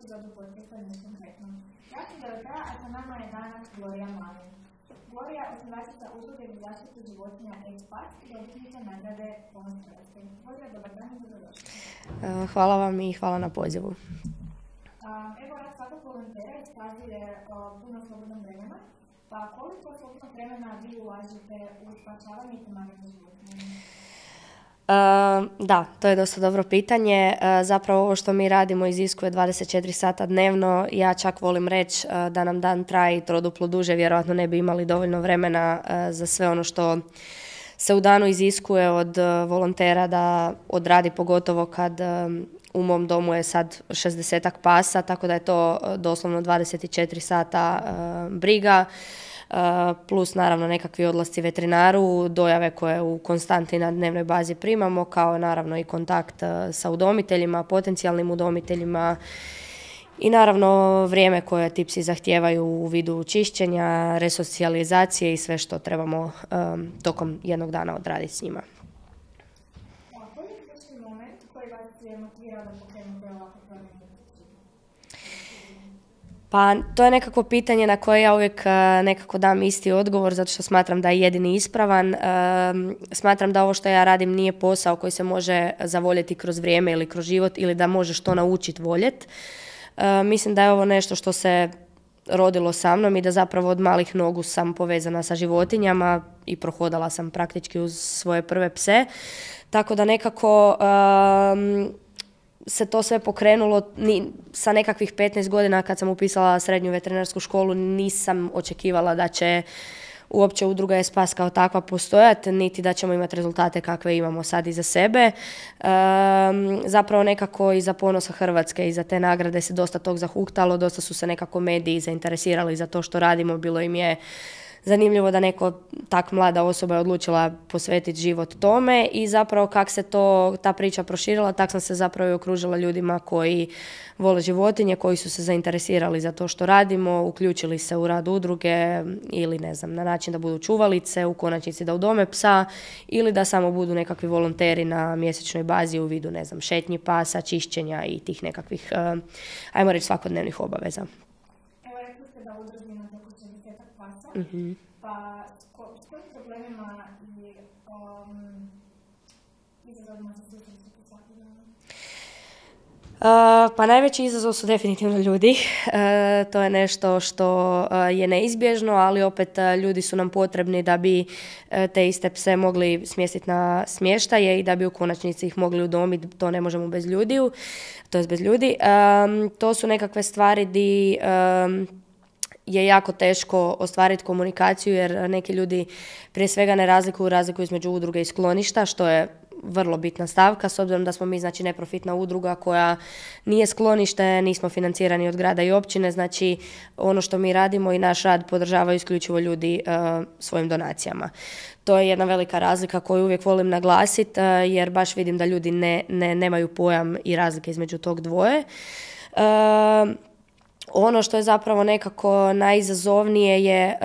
epizodu podcasta Niš konkretno. Ja sam Dorotea, a sa nama je danas Gloria Malin. Gloria, osnivačica usluge za zaštitu životinja ESPAS i dobitnica nagrade Ponos Hrvatske. Gloria, dobar dan i dobrodošli. Hvala vam i hvala na pozivu. Evo, rad svakog volontera iskazuje puno slobodnog vremena, pa koliko slobodnog vremena vi ulažete u spašavanje i pomaganje životinjama? Da, to je dosta dobro pitanje. Zapravo ovo što mi radimo iziskuje 24 sata dnevno. Ja čak volim reći da nam dan traje troduplo duže, vjerojatno ne bi imali dovoljno vremena za sve ono što se u danu iziskuje od volontera da odradi, pogotovo kad u mom domu je sad 60-ak pasa, tako da je to doslovno 24 sata briga. Plus naravno nekakvi odlasci veterinaru, dojave koje u konstanti na dnevnoj bazi primamo, kao naravno i kontakt sa udomiteljima, potencijalnim udomiteljima i naravno vrijeme koje ti psi zahtijevaju u vidu čišćenja, resocijalizacije i sve što trebamo tokom jednog dana odraditi s njima. Koji je ključni moment koji vas je motivirao da pokrenete ovako promjenu? Pa to je nekako pitanje na koje ja uvijek nekako dam isti odgovor, zato što smatram da je jedini ispravan. Smatram da ovo što ja radim nije posao koji se može zavoljeti kroz vrijeme ili kroz život ili da možeš to naučiti voljeti. Mislim da je ovo nešto što se rodilo sa mnom i da zapravo od malih nogu sam povezana sa životinjama i prohodala sam praktički uz svoje prve pse. Tako da nekako se to sve pokrenulo sa nekakvih 15 godina kad sam upisala srednju veterinarsku školu. Nisam očekivala da će uopće udruga ESPAS kao takva postojati, niti da ćemo imati rezultate kakve imamo sad iza sebe. Zapravo nekako iza Ponosa Hrvatske, iza te nagrade se dosta tog zahuktalo, dosta su se nekako mediji zainteresirali za to što radimo, bilo im je zanimljivo da neko tak mlada osoba je odlučila posvetiti život tome i zapravo kak se ta priča proširila, tak sam se zapravo i okružila ljudima koji vole životinje, koji su se zainteresirali za to što radimo, uključili se u rad udruge ili ne znam, na način da budu čuvalice, u konačnici da udome psa ili da samo budu nekakvi volonteri na mjesečnoj bazi u vidu, ne znam, šetnji pasa, čišćenja i tih nekakvih, ajmo reći, svakodnevnih obaveza. Evo, rekli ste da udruži imate oko 60-ak pasa, pa s kojim problemima i izazovima se susrećete svaki dan? Pa najveći izazov su definitivno ljudi. To je nešto što je neizbježno, ali opet ljudi su nam potrebni da bi te iste pse mogli smjestiti na smještaje i da bi u konačnici ih mogli udomiti. To ne možemo bez ljudi. To su nekakve stvari di je jako teško ostvariti komunikaciju jer neki ljudi prije svega ne razlikuju razliku između udruge i skloništa, što je vrlo bitna stavka, s obzirom da smo mi znači neprofitna udruga koja nije sklonište, nismo financirani od grada i općine, znači ono što mi radimo i naš rad podržavaju isključivo ljudi svojim donacijama. To je jedna velika razlika koju uvijek volim naglasiti jer baš vidim da ljudi nemaju pojam i razlike između tog dvoje. Ono što je zapravo nekako najizazovnije je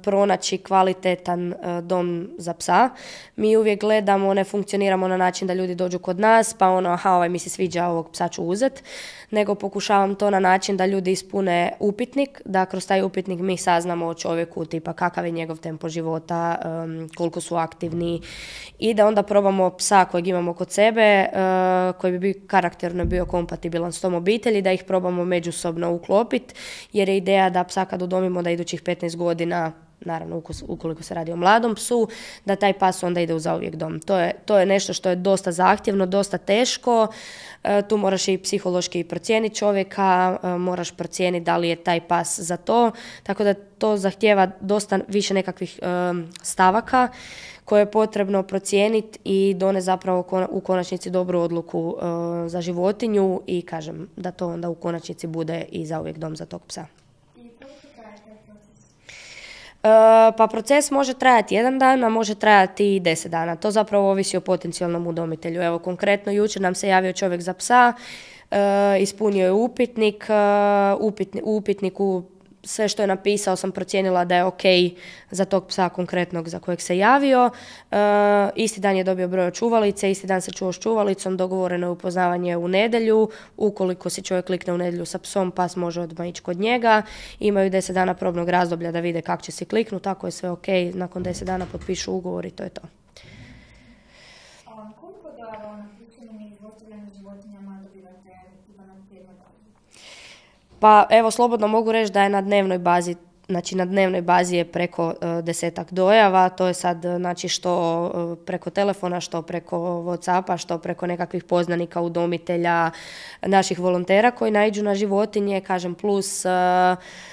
pronaći kvalitetan dom za psa. Mi uvijek gledamo, ne funkcioniramo na način da ljudi dođu kod nas, pa ovaj mi se sviđa, ovog psa ću uzet, nego pokušavam to na način da ljudi ispune upitnik, da kroz taj upitnik mi saznamo o čovjeku, tipa kakav je njegov tempo života, koliko su aktivni i da onda probamo psa kojeg imamo kod sebe, koji bi karakterno bio kompatibilan s tom obitelji, da ih probamo međusobno uklopiti, jer je ideja da psa kad udomimo da idućih 15 godina, naravno ukoliko se radi o mladom psu, da taj pas onda ide u zauvijek dom. To je nešto što je dosta zahtjevno, dosta teško. Tu moraš i psihološki procijeniti čovjeka, moraš procijeniti da li je taj pas za to, tako da to zahtijeva dosta više nekakvih stavaka koje je potrebno procijeniti i doneti zapravo u konačnici dobru odluku za životinju i kažem da to onda u konačnici bude i zauvijek dom za tog psa. Pa proces može trajati 1 dan, a može trajati i 10 dana. To zapravo ovisi o potencijalnom udomitelju. Evo, konkretno jučer nam se javio čovjek za psa, ispunio je upitnik, u upitniku sve što je napisao sam procijenila da je ok za tog psa konkretnog za kojeg se javio. Isti dan je dobio broj od čuvalice, isti dan se čuo s čuvalicom, dogovoreno je upoznavanje u nedjelju. Ukoliko si čovjek klikne u nedjelju sa psom, pas može odmah ići kod njega. Imaju 10 dana probnog razdoblja da vide kako će si kliknuti, tako je sve ok, nakon 10 dana potpišu ugovor i to je to. Koliko dojava na prisilnim i zlostavljanim životinjama dobivate na tjednoj bazi? Pa evo, slobodno mogu reći da je na dnevnoj bazi, znači na dnevnoj bazi je preko 10 dojava, to je sad znači što preko telefona, što preko WhatsAppa, što preko nekakvih poznanika, udomitelja, naših volontera koji naiđu na životinje, kažem plus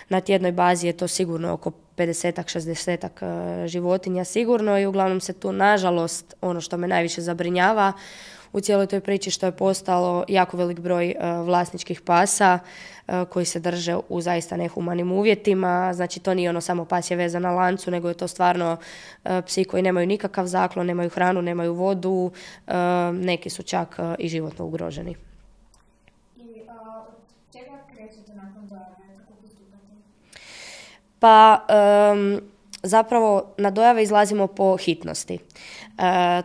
na tjednoj bazi je to sigurno oko 50-ak, 60-ak životinja sigurno i uglavnom se tu nažalost ono što me najviše zabrinjava u cijeloj toj priči što je postalo jako velik broj vlasničkih pasa koji se drže u zaista nehumanim uvjetima. Znači to nije ono samo pas je vezan na lancu, nego je to stvarno psi koji nemaju nikakav zaklon, nemaju hranu, nemaju vodu, neki su čak i životno ugroženi. I od čega krećete nakon dojave? Kako postupate? Pa zapravo na dojave izlazimo po hitnosti.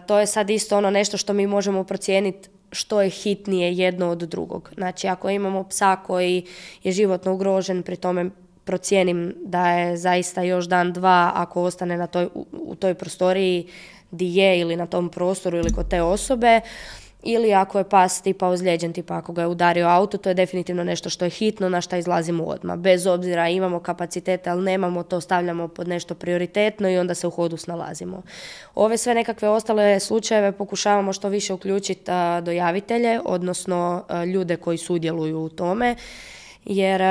To je sad isto ono nešto što mi možemo procijeniti što je hitnije jedno od drugog. Znači ako imamo psa koji je životno ugrožen, pri tome procijenim da je zaista još dan, dva ako ostane u toj prostoriji di je ili na tom prostoru ili kod te osobe, ili ako je pas tipa ozlijeđen, tipa ako ga je udario auto, to je definitivno nešto što je hitno, na što izlazimo odmah. Bez obzira imamo kapacitete, ali nemamo, to stavljamo pod nešto prioritetno i onda se u hodu snalazimo. Ove sve nekakve ostale slučajeve pokušavamo što više uključiti dojavitelje, odnosno ljude koji sudjeluju u tome, jer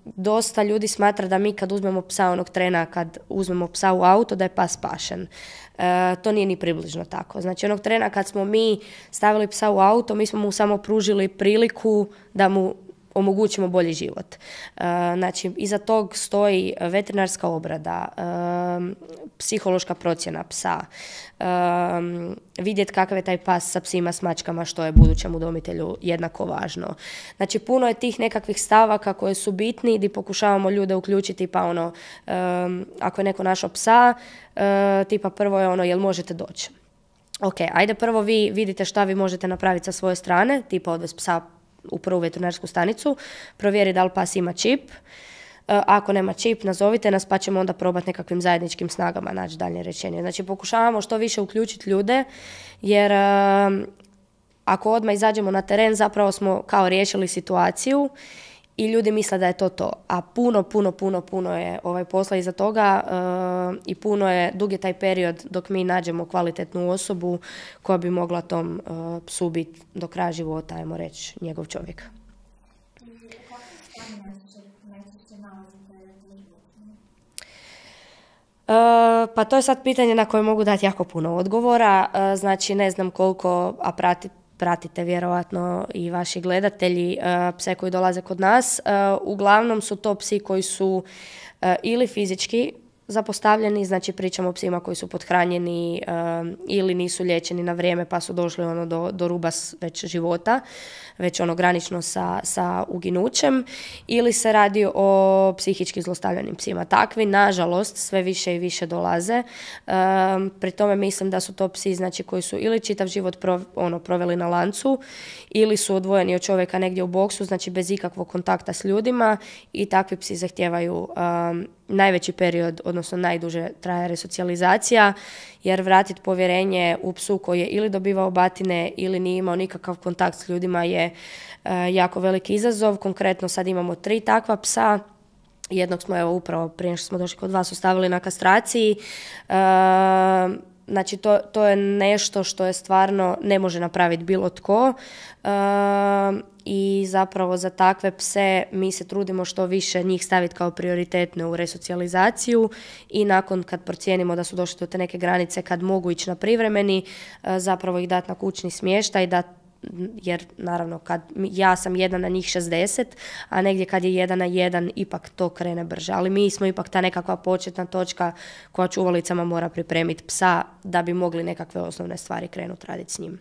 dosta ljudi smatra da mi kad uzmemo psa onog trena, kad uzmemo psa u auto, da je pas spašen. To nije ni približno tako. Znači onog trena kad smo mi stavili psa u auto, mi smo mu samo pružili priliku da mu omogućimo bolji život. Znači iza tog stoji veterinarska obrada, psihološka procjena psa, vidjeti kakav je taj pas sa psima, s mačkama, što je budućem udomitelju jednako važno. Znači puno je tih nekakvih stavaka koje su bitni gdje pokušavamo ljude uključiti, pa ono, ako je neko našao psa, tipa prvo je ono, jel možete doći? Ok, ajde prvo vi vidite šta vi možete napraviti sa svoje strane, tipa odvesti psa u prvu veterinarsku stanicu, provjeri da li pas ima čip. Ako nema čip, nazovite nas pa ćemo onda probati nekakvim zajedničkim snagama naći dalje rješenje. Znači pokušavamo što više uključiti ljude, jer ako odmah izađemo na teren zapravo smo kao riješili situaciju i ljudi misle da je to. A puno je posla iza toga i dug je taj period dok mi nađemo kvalitetnu osobu koja bi mogla tom psu biti do kraja života, ajmo reći, njegov čovjek. Pa to je sad pitanje na koje mogu dati jako puno odgovora. Znači ne znam koliko, a pratite vjerojatno i vaši gledatelji pse koji dolaze kod nas. Uglavnom su to psi koji su ili fizički zapostavljeni, znači pričamo o psima koji su pothranjeni ili nisu liječeni na vrijeme pa su došli ono do ruba već života, već ono granično sa uginućem, ili se radi o psihički zlostavljanim psima. Takvi, nažalost, sve više i više dolaze. Pri tome mislim da su to psi znači, koji su ili čitav život proveli na lancu, ili su odvojeni od čovjeka negdje u boksu, znači bez ikakvog kontakta s ljudima, i takvi psi zahtijevaju najveći period, odnosno najduže traje resocijalizacija, jer vratiti povjerenje u psu koji je ili dobivao batine ili nije imao nikakav kontakt s ljudima je jako veliki izazov. Konkretno sad imamo 3 takva psa. Jednog smo evo upravo prije što smo došli kod vas ostavili na kastraciji. Znači to je nešto što je stvarno ne može napraviti bilo tko. I zapravo za takve pse mi se trudimo što više njih staviti kao prioritetne u resocijalizaciju i nakon kad procijenimo da su došli do te neke granice kad mogu ići na privremeni, zapravo ih dati na kućni smještaj, jer naravno kad ja sam 1 na njih 60, a negdje kad je 1 na 1 ipak to krene brže, ali mi smo ipak ta nekakva početna točka koja čuvalicama mora pripremiti psa da bi mogli nekakve osnovne stvari krenuti raditi s njim.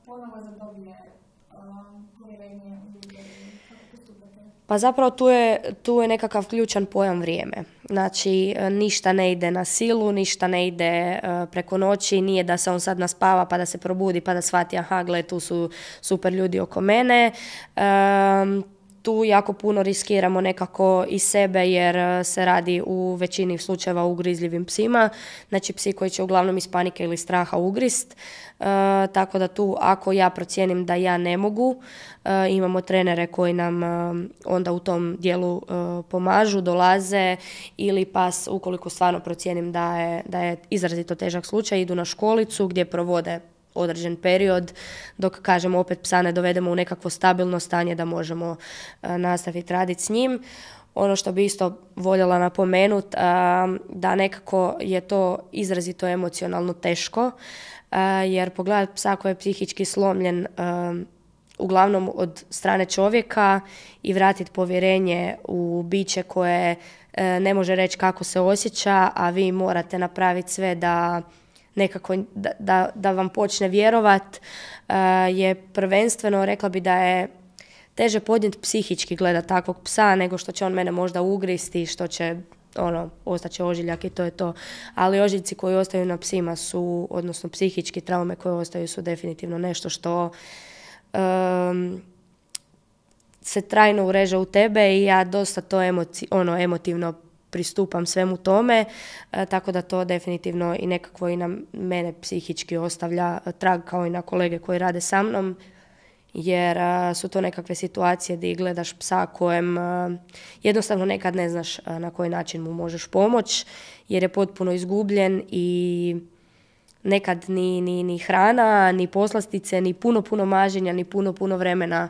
ponovo zadobije povjerenje u ljude? Kako postupate? Pa zapravo tu je nekakav ključan pojam vrijeme. Znači, ništa ne ide na silu, ništa ne ide preko noći, nije da se on sad naspava pa da se probudi pa da shvati, aha, gle, tu su super ljudi oko mene. Tu jako puno riskiramo nekako i sebe jer se radi u većini slučajeva o ugrizljivim psima, znači psi koji će uglavnom iz panike ili straha ugrist, tako da tu ako ja procijenim da ja ne mogu, imamo trenere koji nam onda u tom dijelu pomažu, dolaze ili pas ukoliko stvarno procijenim da je izrazito težak slučaj, idu na školicu gdje provode određen period, dok, kažemo, opet psa ne dovedemo u nekakvo stabilno stanje da možemo nastaviti raditi s njim. Ono što bi isto voljela napomenuti, da nekako je to izrazito emocionalno teško, jer pogledati psa koji je psihički slomljen uglavnom od strane čovjeka i vratiti povjerenje u biće koje ne može reći kako se osjeća, a vi morate napraviti sve da nekako da vam počne vjerovat, je prvenstveno, rekla bi da je teže podnijeti psihički gledat takvog psa nego što će on mene možda ugristi, što će ostaće ožiljak i to je to. Ali ožiljci koji ostaju na psima su, odnosno psihički traume koje ostaju su definitivno nešto što se trajno ureže u tebe i ja dosta to emotivno pristupam svemu tome, tako da to definitivno i nekako i na mene psihički ostavlja trag kao i na kolege koji rade sa mnom, jer su to nekakve situacije gdje gledaš psa kojem jednostavno nekad ne znaš na koji način mu možeš pomoći, jer je potpuno izgubljen i nekad ni hrana, ni poslastice, ni puno maženja, ni puno vremena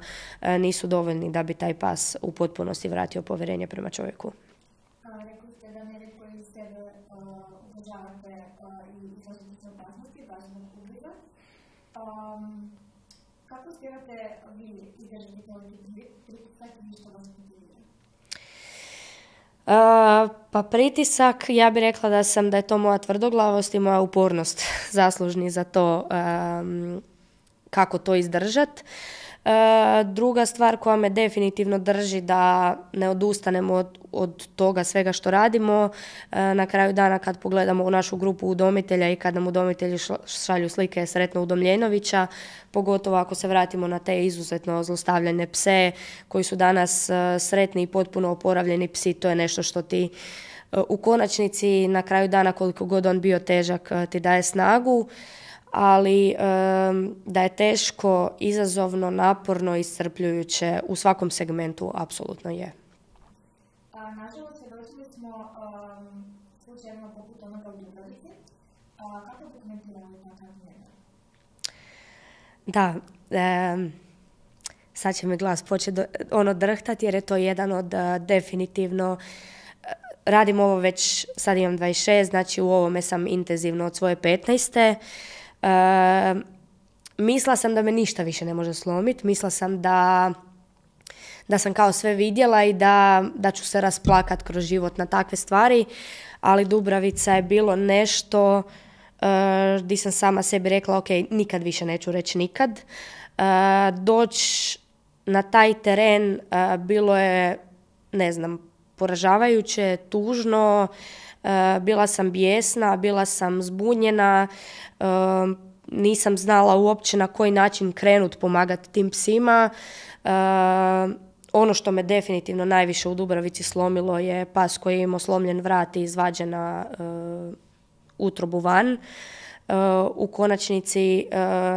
nisu dovoljni da bi taj pas u potpunosti vratio povjerenje prema čovjeku. Rekli ste da nerijetko iz sebe uvažavate i izlažete se opasnosti, baš zbog ugriza. Kako uspijevate vi izdržati toliki pritisak i što vas motivira? Pa pritisak, ja bih rekla da je to moja tvrdoglavost i moja upornost zaslužni za to kako to izdržati. Druga stvar koja me definitivno drži da ne odustanemo od toga svega što radimo, na kraju dana kad pogledamo u našu grupu udomitelja i kad nam udomitelji šalju slike Sretno Udomljenovića, pogotovo ako se vratimo na te izuzetno zlostavljane pse koji su danas sretni i potpuno oporavljeni psi, to je nešto što ti u konačnici na kraju dana, koliko god on bio težak, ti daje snagu. Ali da je teško, izazovno, naporno, iscrpljujuće u svakom segmentu, apsolutno je. Nažalost, svjedočili smo slučajevima poput onoga u Dubravici. Kako dokumentiramo takav jedan? Da, sad će mi glas početi drhtati jer je to jedan od definitivno, radim ovo već, sad imam 26, znači u ovome sam intenzivno od svoje 15. Mislila sam da me ništa više ne može slomiti, mislila sam da sam kao sve vidjela i da ću se rasplakat kroz život na takve stvari, ali Dubravica je bilo nešto gdje sam sama sebi rekla, ok, nikad više neću reći nikad. Doći na taj teren bilo je, ne znam, poražavajuće, tužno, bila sam bijesna, bila sam zbunjena, nisam znala uopće na koji način krenut pomagati tim psima. Ono što me definitivno najviše u Dubravici slomilo je pas koji je imao slomljen vrat i izvađena utrobu van. U konačnici,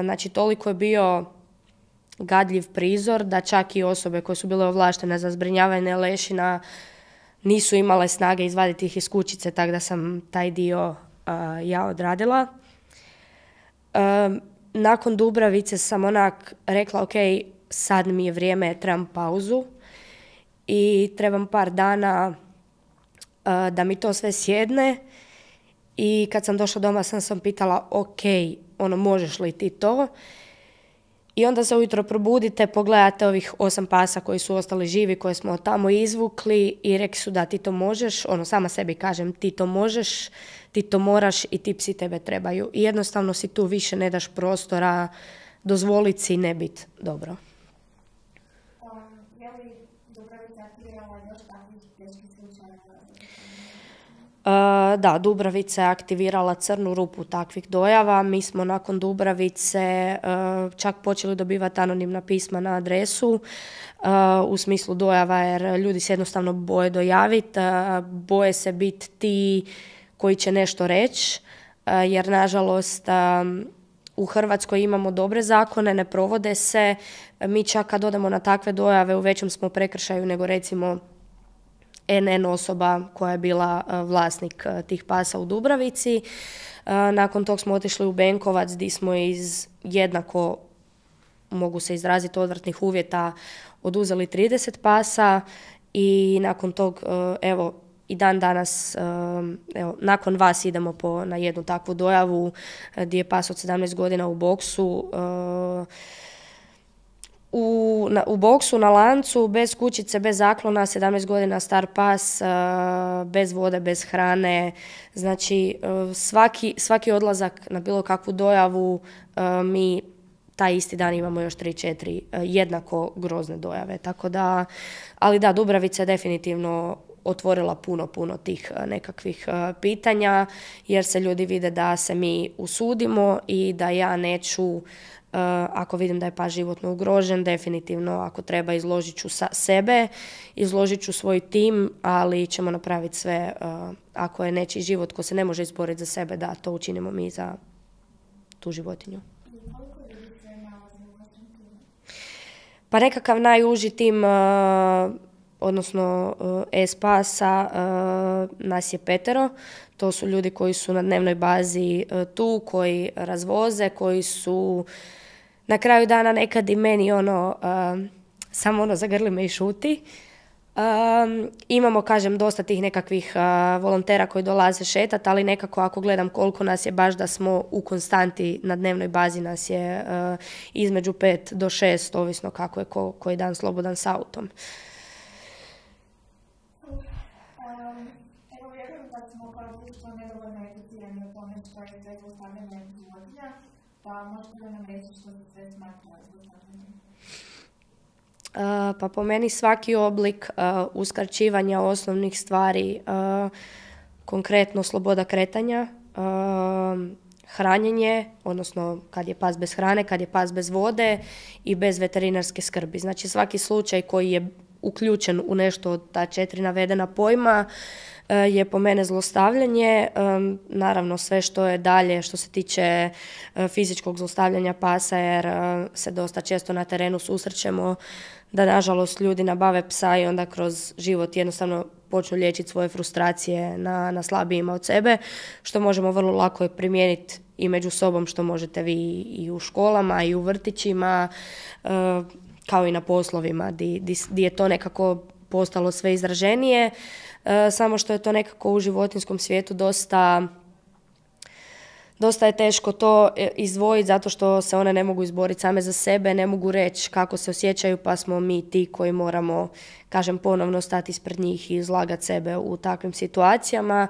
znači toliko je bio gadljiv prizor da čak i osobe koje su bile ovlaštene za zbrinjavanje lešina nisu imale snage izvaditi ih iz kućice, tako da sam taj dio ja odradila. Nakon Dubravice sam onak rekla, ok, sad mi je vrijeme, trebam pauzu i trebam par dana da mi to sve sjedne. I kad sam došla doma sam pitala, ok, možeš li ti to? I onda se ujutro probudite, pogledate ovih 8 pasa koji su ostali živi, koje smo tamo izvukli i rekli su da ti to možeš, sama sebi kažem ti to možeš, ti to moraš i ti psi tebe trebaju. I jednostavno si tu više ne daš prostora dozvoliti si ne biti dobro. Je li Dubravica aktivirala još takvih teških slučajeva? Da, Dubravica je aktivirala crnu rupu takvih dojava. Mi smo nakon Dubravice čak počeli dobivati anonimna pisma na adresu u smislu dojava, jer ljudi se jednostavno boje dojaviti, boje se biti ti koji će nešto reći, jer nažalost u Hrvatskoj imamo dobre zakone, ne provode se. Mi čak kad odemo na takve dojave u većem smo prekršaju nego recimo NN osoba koja je bila vlasnik tih pasa u Dubravici. Nakon tog smo otišli u Benkovac gdje smo iz jednako, mogu se izraziti, odvratnih uvjeta oduzeli 30 pasa i nakon tog, evo, i dan danas, evo, nakon vas idemo na jednu takvu dojavu gdje je pas od 17 godina u boksu, u boksu na lancu, bez kućice, bez zaklona, 17 godina star pas, bez vode, bez hrane. Znači, svaki odlazak na bilo kakvu dojavu, mi taj isti dan imamo još 3-4 jednako grozne dojave. Tako da, ali da, Dubravica je definitivno otvorila puno tih nekakvih pitanja, jer se ljudi vide da se mi usudimo i da ja neću, ako vidim da je pas životno ugrožen, definitivno ako treba izložit ću sebe, izložit ću svoj tim, ali ćemo napraviti sve, ako je nečiji život ko se ne može izboriti za sebe, da to učinimo mi za tu životinju. Pa nekakav najuži tim, odnosno S-pasa, nas je 5. To su ljudi koji su na dnevnoj bazi tu, koji razvoze, koji su na kraju dana nekad i meni samo zagrli me i šuti. Imamo, kažem, dosta tih nekakvih volontera koji dolaze šetati, ali nekako ako gledam koliko nas je, baš da smo u konstanti na dnevnoj bazi, nas je između 5 do 6, ovisno kako je koji dan slobodan s autom. Evo, vjerujem da smo kao društvo nedovoljno educirani o tome što je sve zlostavljanje životinja, pa možete li nam reći što se sve smatra zlostavljanjem? Pa po meni svaki oblik uskraćivanja osnovnih stvari, konkretno sloboda kretanja, hranjenje, odnosno kad je pas bez hrane, kad je pas bez vode i bez veterinarske skrbi. Znači svaki slučaj koji je uključen u nešto od ta 4 navedena pojma je po mene zlostavljanje. Naravno sve što je dalje, što se tiče fizičkog zlostavljanja pasa, jer se dosta često na terenu susrećemo da nažalost ljudi nabave psa i onda kroz život jednostavno počnu liječiti svoje frustracije na slabijima od sebe, što možemo vrlo lako primijeniti i među sobom, što možete vi i u školama i u vrtićima, kao i na poslovima gdje je to nekako postalo sve izraženije, samo što je to nekako u životinjskom svijetu dosta je teško to izdvojiti, zato što se one ne mogu izboriti same za sebe, ne mogu reći kako se osjećaju, pa smo mi ti koji moramo, kažem, ponovno stati ispred njih i izlagati sebe u takvim situacijama.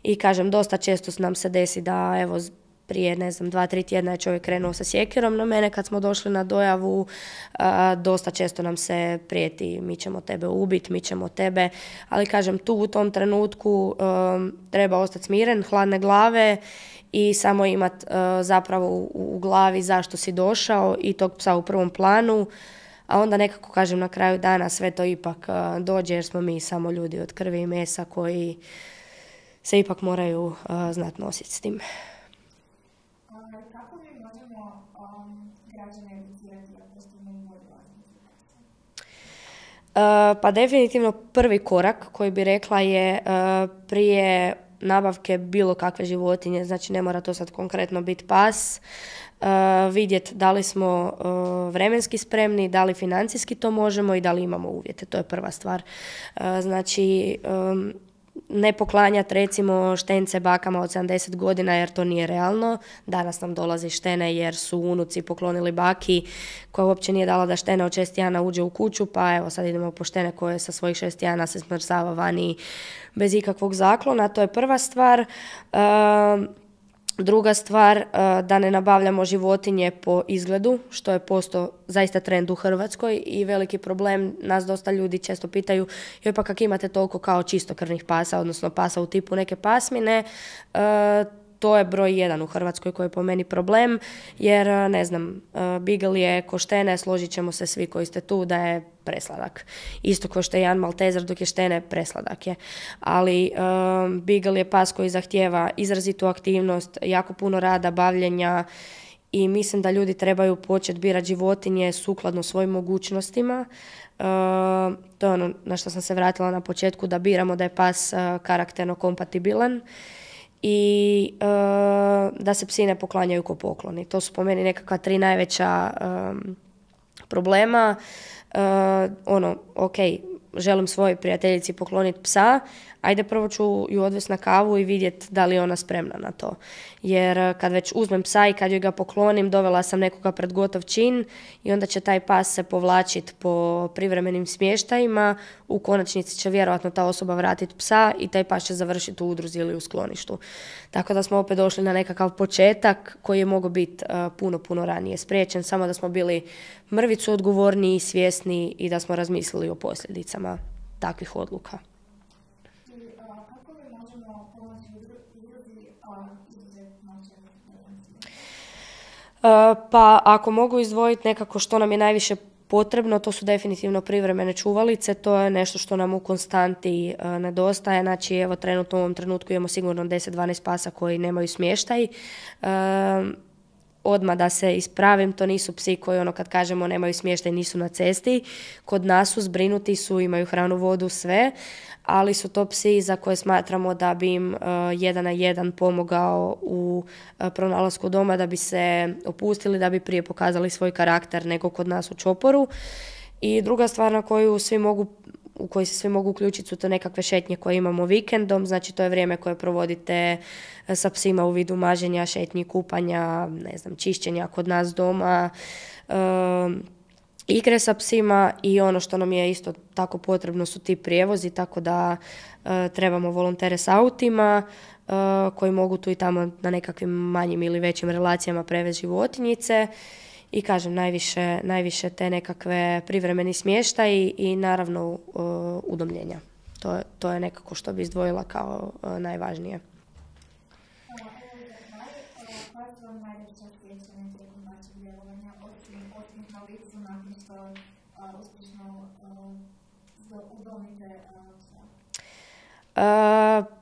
I kažem, dosta često nam se desi da, evo, prije, 2-3 tjedna je čovjek krenuo sa sjekirom na mene kad smo došli na dojavu. Dosta često nam se prijeti, mi ćemo tebe ubiti, mi ćemo tebe. Ali kažem, tu u tom trenutku treba ostati smiren, hladne glave i samo imati zapravo u glavi zašto si došao i tog psa u prvom planu. A onda nekako, kažem, na kraju dana sve to ipak dođe, jer smo mi samo ljudi od krvi i mesa koji se ipak moraju znati nositi s tim. Kako mi možemo građane educirati da postanu bolji vlasnici? Pa definitivno prvi korak koji bi rekla je prije nabavke bilo kakve životinje, znači ne mora to sad konkretno biti pas, vidjeti da li smo vremenski spremni, da li financijski to možemo i da li imamo uvjete. To je prva stvar. Znači, ne poklanjati recimo štence bakama od 70 godina jer to nije realno. Danas nam dolazi štene jer su unuci poklonili baki koja uopće nije dala da štena od 6 tjedana uđe u kuću, pa evo sad idemo po štene koje sa svojih 6 tjedana se smrzava vani bez ikakvog zaklona. To je prva stvar. Druga stvar, da ne nabavljamo životinje po izgledu, što je postao zaista trend u Hrvatskoj i veliki problem. Nas dosta ljudi često pitaju, joj pa kak imate toliko kao čistokrvnih pasa, odnosno pasa u tipu neke pasmine. To je broj 1 u Hrvatskoj koji je po meni problem, jer ne znam, Beagle je ko štene, složit ćemo se svi koji ste tu da je presladak. Isto kao što je jedan Maltezer, dok je štene presladak je. Ali Beagle je pas koji zahtijeva izrazitu aktivnost, jako puno rada, bavljenja i mislim da ljudi trebaju početi birati životinje sukladno svojim mogućnostima. To je ono na što sam se vratila na početku, da biramo da je pas karakterno kompatibilan i da se psi ne poklanjaju ko pokloni. To su po meni nekakva 3 najveća problema. Ok, želim svojoj prijateljici pokloniti psa, ajde prvo ću ju odvesti na kavu i vidjeti da li je ona spremna na to. Jer kad već uzmem psa i kad joj ga poklonim, dovela sam nekoga pred gotov čin i onda će taj pas se povlačiti po privremenim smještajima, u konačnici će vjerojatno ta osoba vratiti psa i taj pas će završiti u udruzi ili u skloništu. Tako da smo opet došli na nekakav početak koji je mogao biti puno ranije spriječen, samo da smo bili mrvicu odgovorniji, svjesni i da smo razmislili o posljedicama takvih odluka. Pa ako mogu izdvojiti nekako što nam je najviše potrebno, to su definitivno privremene čuvalice, to je nešto što nam u konstanti nedostaje. Znači, evo trenutno u ovom trenutku imamo sigurno 10-12 pasa koji nemaju smještaj. Odmah da se ispravim, to nisu psi koji ono kad kažemo nemaju smještaj, nisu na cesti. Kod nas su zbrinuti, imaju hranu, vodu, sve, ali su to psi za koje smatramo da bi im 1 na 1 pomogao u pronalasku doma, da bi se opustili, da bi prije pokazali svoj karakter nego kod nas u čoporu. I druga stvar na koju u koji se svi mogu uključiti su to nekakve šetnje koje imamo vikendom, znači to je vrijeme koje provodite sa psima u vidu maženja, šetnji, kupanja, ne znam, čišćenja kod nas doma, igre sa psima i ono što nam je isto tako potrebno su ti prijevozi, tako da trebamo volontere s autima koji mogu tu i tamo na nekakvim manjim ili većim relacijama prevesti životinjice. I kažem, najviše te nekakve privremeni smještaj i naravno udomljenja. To je nekako što bi izdvojila kao najvažnije.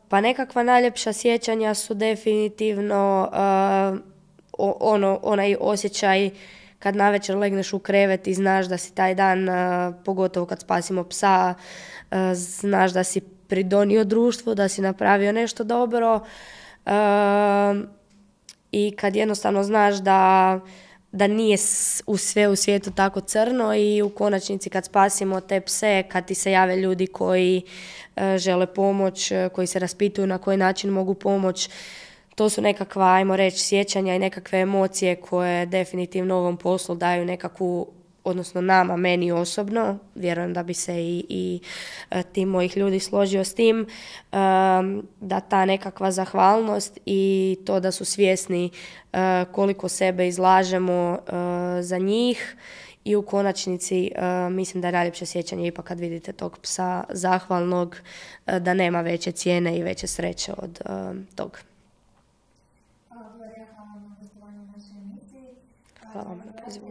Pa nekakva najljepša sjećanja su definitivno onaj osjećaj kad navečer legneš u krevet i znaš da si taj dan, pogotovo kad spasimo psa, znaš da si pridonio društvu, da si napravio nešto dobro i kad jednostavno znaš da nije sve u svijetu tako crno i u konačnici kad spasimo te pse, kad ti se jave ljudi koji žele pomoć, koji se raspituju na koji način mogu pomoć, to su nekakva, ajmo reći, sjećanja i nekakve emocije koje definitivno ovom poslu daju nekakvu, odnosno nama, meni osobno, vjerujem da bi se i tim mojih ljudi složio s tim, da ta nekakva zahvalnost i to da su svjesni koliko sebe izlažemo za njih i u konačnici mislim da je najljepše sjećanje ipak kad vidite tog psa zahvalnog, da nema veće cijene i veće sreće od tog. Hvala vam na pozivu.